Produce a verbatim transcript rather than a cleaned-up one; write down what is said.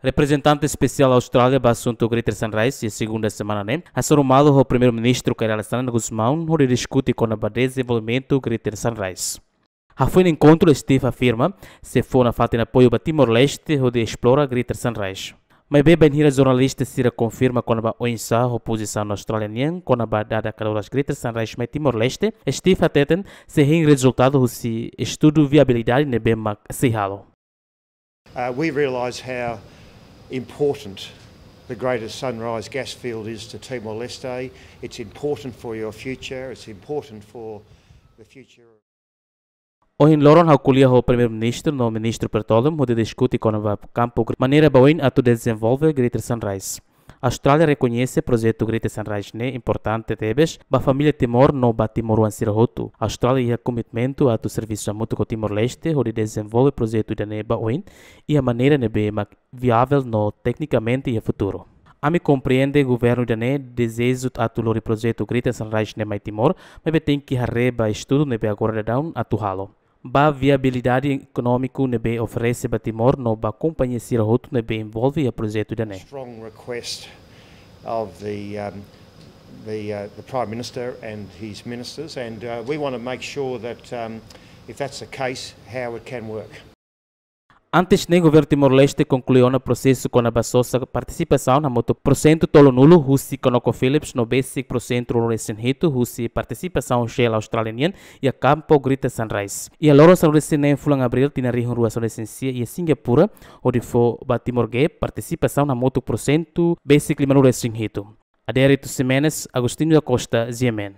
Reprezentante Espesiál Austrália ba asuntu Greater Sunrise, iha segunda semana ne'e, hasoru malu ho Primeiru-Ministru Kay Rala Xanana Gusmão, hodi diskute kona-ba dezenvolvimentu Greater Sunrise. Hafoin enkontru, Steve afirma sei fó nafatin apoiu ba Timor-Leste hodi esplora Greater Sunrise. Maibé bainhira jornalista sira konfirma kona-ba oinsá ho pozisaun Austrália nian kona-ba dada kadoras Greater Sunrise mai Timor-Leste, Steve hateten sei hein rezultadu husi estudu viabilidade ne'ebé mak sei halo. Uh, we realise how important the Greater Sunrise gas field is to Timor-Leste. It's important for your future. It's important for the future. Ohin loron ha'u ko'alia ho Primeiru-Ministru no Ministru Petroleum hodi diskute kona-ba kampu gr-, maneira ba oin atu dezenvolve Greater Sunrise. Austrália rekoñese projetu Greater Sunrise ne'e importante tebes ba família Timor no ba timoroan sira hotu. Austrália iha komitmentu atu servisu hamutuk ho Timor-Leste hodi dezenvolve projetu ida-ne'e ba oin iha maneira ne'ebé mak viavel no teknikamente iha futuru. Ami komprende governu ida-ne'e dezeju atu lori projetu Greater Sunrise ne'e mai Timor, maibé tenke haree ba estudu ne'ebé agora daudaun atu halo. Ba viabilidade ekonómiku ne'ebé oferese ba Timor no ba kompañia sira hotu ne'ebé envolve iha projetu ida-ne'e. Strong request of the, um, the, uh, the Prime Minister and his ministers, and, uh, we want to make sure that, um, if that's the case, how it can work. Antes ne'e, governu Timor-Leste konklui ona prosesu kona-ba sosa partisipasaun hamutuk porsentu tolunulu husi ConocoPhillips no besik porsentu ruanulu-resin-hitu husi partisipasaun Shell Austrália nian iha kampu Greater Sunrise. Iha loron sanulu-resin-neen fulan Abríl tinan rihun rua sanulu-resin-sia iha Singapura, hodi fó ba Timor Gap partisipasaun hamutuk porsentu besik limanulu-resin-hitu. Adérito Ximenes, Agostinho da Costa, G M N.